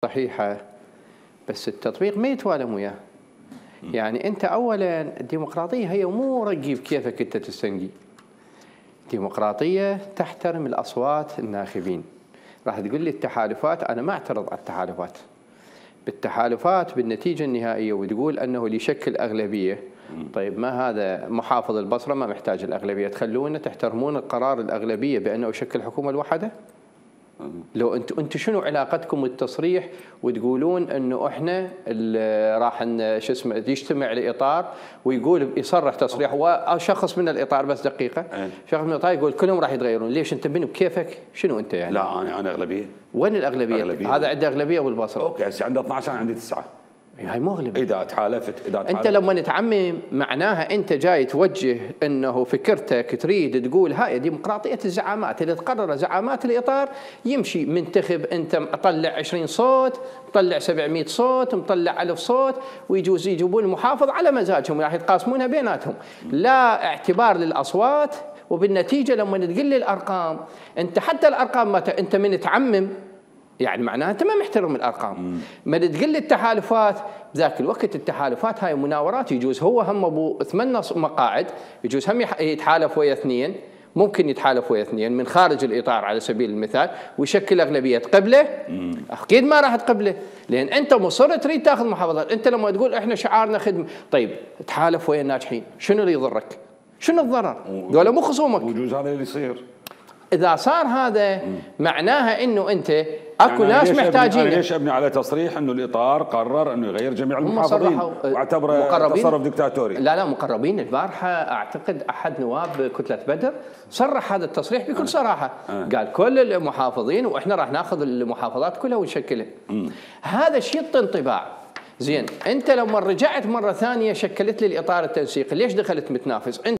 صحيحة، بس التطبيق ما يتوالم وياه. يعني أنت أولاً الديمقراطية هي مو رقي بكيفك أنت تستنقي. الديمقراطية تحترم الأصوات الناخبين. راح تقول لي التحالفات، أنا ما أعترض على التحالفات. بالتحالفات بالنتيجة النهائية وتقول أنه اللي يشكل أغلبية. طيب ما هذا محافظ البصرة ما محتاج الأغلبية، تخلونه تحترمون القرار الأغلبية بأنه يشكل حكومة الوحدة؟ لو انتم شنو علاقتكم بالتصريح وتقولون انه احنا راح شو اسمه يجتمع الاطار ويقول يصرح تصريح وشخص من الاطار بس دقيقه شخص من الاطار يقول كلهم راح يتغيرون، ليش انت بنو بكيفك؟ شنو انت يعني؟ لا انا اغلبيه. وين الاغلبيه؟ هذا عنده اغلبيه بالبصره. اوكي هسه عنده 12 انا عندي 9. هاي مو اغلبيه. اذا تحالفت انت لما تعمم معناها انت جاي توجه انه فكرتك تريد تقول هاي ديمقراطيه الزعامات اللي تقرر زعامات الاطار يمشي منتخب انت مطلع 20 صوت، مطلع 700 صوت، مطلع 1000 صوت ويجوز يجيبون المحافظ على مزاجهم راح يتقاسمونها بيناتهم، لا اعتبار للاصوات. وبالنتيجه لما تقول لي الارقام انت حتى الارقام ما انت من تعمم يعني معناها انت ما محترم الارقام. ما تقول لي التحالفات بذاك الوقت التحالفات هاي مناورات يجوز هو هم ابو 8 مقاعد يجوز هم يتحالف ويا 2 ممكن يتحالف ويا 2 من خارج الاطار على سبيل المثال ويشكل اغلبيه تقبله؟ اكيد ما راح تقبله لان انت مصر تريد تاخذ محافظات. انت لما تقول احنا شعارنا خدمه، طيب تحالف ويا الناجحين، شنو اللي يضرك؟ شنو الضرر؟ ذولا مو خصومك. ويجوز هذا اللي يصير. اذا صار هذا معناها انه انت اكو يعني ناس محتاجين. ليش ابني على تصريح انه الاطار قرر انه يغير جميع المحافظين واعتبره تصرف دكتاتوري؟ لا مقربين. البارحه اعتقد احد نواب كتله بدر صرح هذا التصريح بكل صراحه. قال كل المحافظين واحنا راح ناخذ المحافظات كلها ونشكلها. هذا شيء يعطي انطباع. زين انت لما رجعت مره ثانيه شكلت لي الاطار التنسيقي، ليش دخلت متنافس؟